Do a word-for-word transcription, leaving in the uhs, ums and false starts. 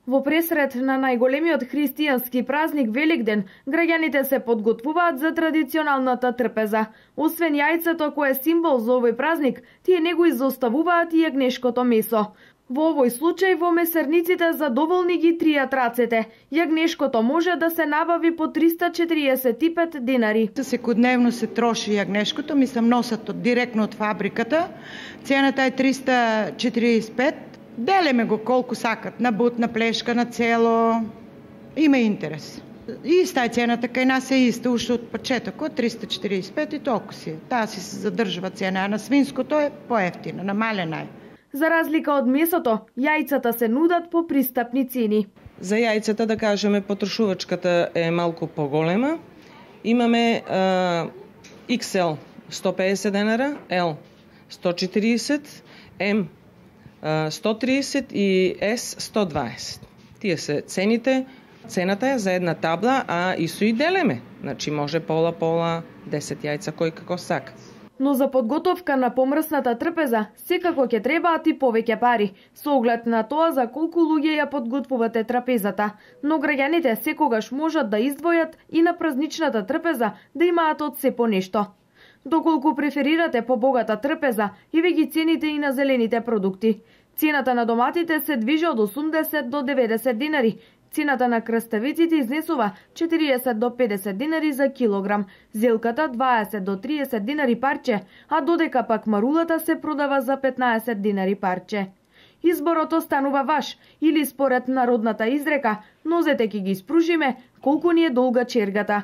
Во пресред на најголемиот христијански празник Великден, граѓаните се подготвуваат за традиционалната трпеза. Освен јајцето кое е символ за овој празник, тие него изоставуваат и јагнешкото месо. Во овој случај во месарниците задоволни ги тријат рацете. Јагнешкото може да се набави по триста четириесет и пет динари. Секојдневно се троши јагнешкото, мислам носат директно од фабриката. Цената е триста четириесет и пет. Делеме го колку сакат, на бут, на плешка, на цело. Има интерес. Иста е цената, кај нас е иста, уште од почетокот, триста четириесет и пет и толку си. Таа си се задржува цена, а на свинското е поевтина, намалена е. За разлика од месото, јајцата се нудат по пристапни цени. За јајцата, да кажеме, потрошувачката е малку поголема. Имаме а, икс ел сто педесет денара, L сто четириесет, М сто тридесет и С сто дваесет. Тие се цените. Цената е за една табла, а и со и делеме. Значи може пола-пола, десет јајца кој како сака. Но за подготовка на помрсната трпеза секако ќе требаат и повеќе пари, со оглед на тоа за колку луѓе ја подготвувате трапезата. Но граѓаните секогаш можат да издвојат и на празничната трпеза да имаат од се по нешто. Доколку преферирате побогата трпеза, и ве ги цените и на зелените продукти. Цената на доматите се движи од осумдесет до деветдесет динари. Цената на краставиците изнесува четириесет до педесет динари за килограм, зелката дваесет до триесет динари парче, а додека пак марулата се продава за петнаесет динари парче. Изборот останува ваш, или според народната изрека, нозете ќе ги спружиме колку ни е долга чергата.